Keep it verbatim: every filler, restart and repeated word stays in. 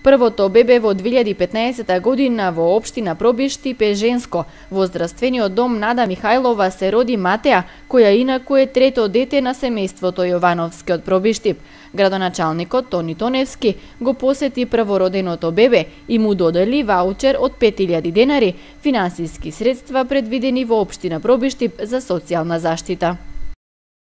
Првото бебе во две илјади и петнаесета година во општина Пробиштип е женско. Во здравствениот дом Нада Михајлова се роди Матеја, која инаку е трето дете на семејството Јовановски од Пробиштип. Градоначалникот Тони Тоневски го посети првороденото бебе и му додели ваучер од пет илјади денари, финансиски средства предвидени во општина Пробиштип за социјална заштита.